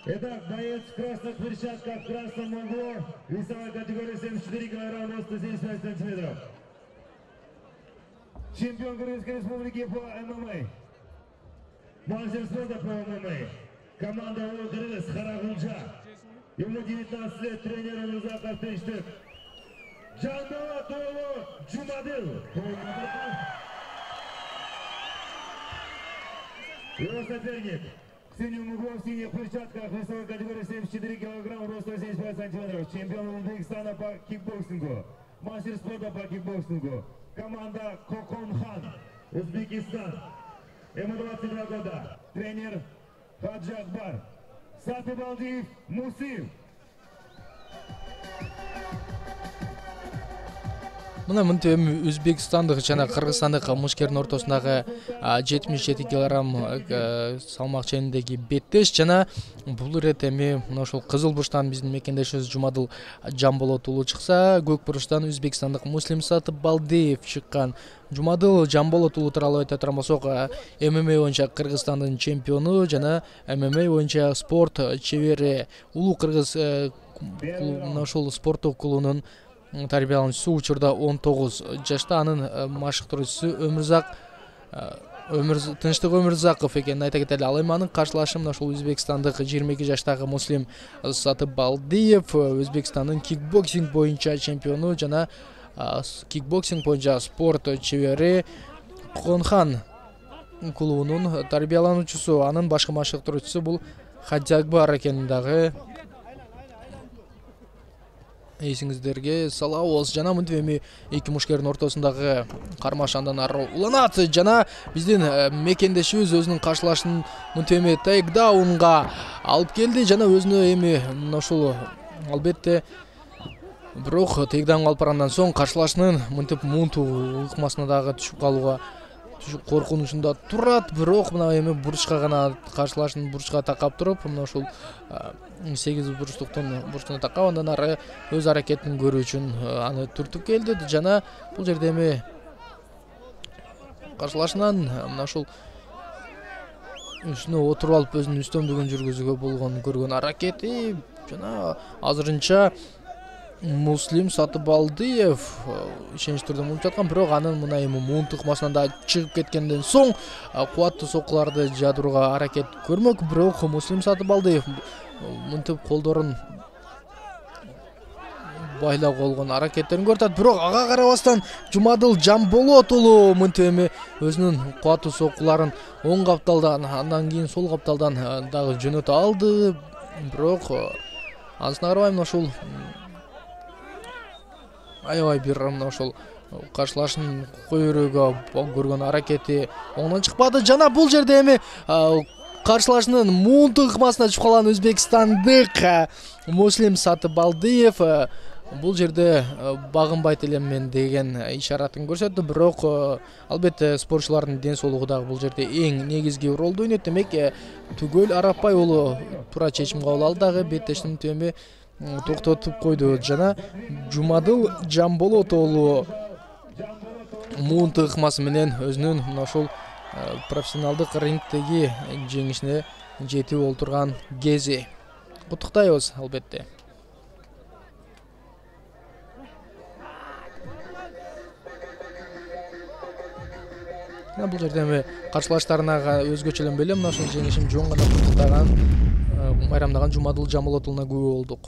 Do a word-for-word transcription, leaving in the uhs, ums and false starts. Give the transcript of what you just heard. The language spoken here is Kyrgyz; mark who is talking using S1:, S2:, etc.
S1: Итак, боец в красных перчатках, в красном углу, весовая категория семьдесят четыре килограмма, роста семьдесят пять сантиметров. Чемпион Кыргызской Республики по ММА. Мастер спорта по ММА. Команда Улуу Кыргыз Карагунча. Ему девятнадцать лет, тренер Умурзаков Тынчтык. Жанболот уулу Жумадыл. Его соперник. В синем углу, в синих перчатках, весовой категории семьдесят четыре килограмма, роста семьдесят пять сантиметров. Чемпион Узбекистана по кикбоксингу. Мастер спорта по кикбоксингу. Команда Коконхан, Узбекистан. Ему двадцать два года. Тренер Хаджи Акбар. Сатыбалдиев Мусив.
S2: Мына мынтем Өзбекстандык жана Кыргызстандык мушкердин ортосундагы жетимиш жети килограмм салмак ченindеги беттеш жана бул ирет эми мына ошол Кызыл бурчтан биздин мекендешибиз Жумадыл Жамболот уулу чыкса, Көк бурчтан өзбекстандык Муслим Сатыбалдиев чыккан. Жумадыл Жамболот уулу тууралуу айта турган болсок, ММА боюнча Кыргызстандын чемпиону жана ММА боюнча спорт чебери, улуу кыргыз мына ошол спорттук клубунун тарбиялануучусу, учурда он тогуз жашта. Анын машыктыруучусу Өмүрзак Тынчтык Өмүрзаков экенин айта кетели. Ал эми анын каршылашы мына ошол өзбекстандык жыйырма эки жаштагы Муслим Сатыбалдиев, Өзбекстандын кикбоксинг боюнча чемпиону жана кикбоксинг боюнча спорт чебери Коконхан клубунун тарбиялануучусу. Анын башкы машыктыруучусу бул Хаджи Акбар экенин дагы эсиңиздерге салабыз. Жана мынтип эми эки мушкердин ортосундагы кармаш андан ары уланат жана биздин мекендешибиз өзүнүн каршылашын мынтип эми тейкдаунга алып келди жана өзүнө эми мына ушул албетте бирок тейкдаунга алып баргандан соң каршылашынын мынтип мунту ыкмасына дагы түшүп калууга коркунучунда турат. Бирок мына эми бурчка гана каршылашын бурчка такап туруп, мына ушул сегиз бурчтуктун бурчуна такап андан ары өз аракетин көрүү үчүн аны түртүп келди жана бул жерде эми каршылашынан мына ушул үстүнө отуруп алып өзүнүн үстөмдүгүн жүргүзүүгө болгон көргөн аракети жана азырынча Муслим Сатыбалдиев ишенич түрдө мунуп жаткан. Бирок анын мына эми муунт ыкмасынан да чыгып кеткенден соң кубаттуу соккуларды жадырууга аракет көрмөк. Бирок Муслим Сатыбалдиев мынтип колдорун байлап болгон аракеттерин көрсөтөт. Бирок ага карабастан Жумадыл Жамболот уулу мынтип эми өзүнүн кубаттуу соккуларын оң капталдан, андан кийин сол капталдан дагы жөнөтө алды. Бирок анысына карабай мына ушул аябай бир мына ошол каршылашын көйрөөгө көргөн аракети оңдон чыкпады жана бул жерде эми каршылашынын муунту ыкмасына түшүп калган өзбекстандык Муслим Сатыбалдиев бул жерде багынбайт элемин деген ишаратын көрсөттү. Бирок албетте спортчулардын ден соолугу дагы бул жерде эң негизги ролду ойнойт. Демек Түгөл Арапбай уулу туура чечим кабыл алды, дагы беттештин эми токтотуп койду жана Жумадыл Жамболот уулу муунту ыкмасы менен өзүнүн мына ошол профессионалдык рингдеги жеңишине жетип олтурган кези. Куттуктайбыз албетте. Бул жерде эми каршылаштарына өзгөчө эле беле мына ушул жеңишин жөн гана куттуктаган, майрамдаган Жумадыл Жамболот уулуна күбө болдук.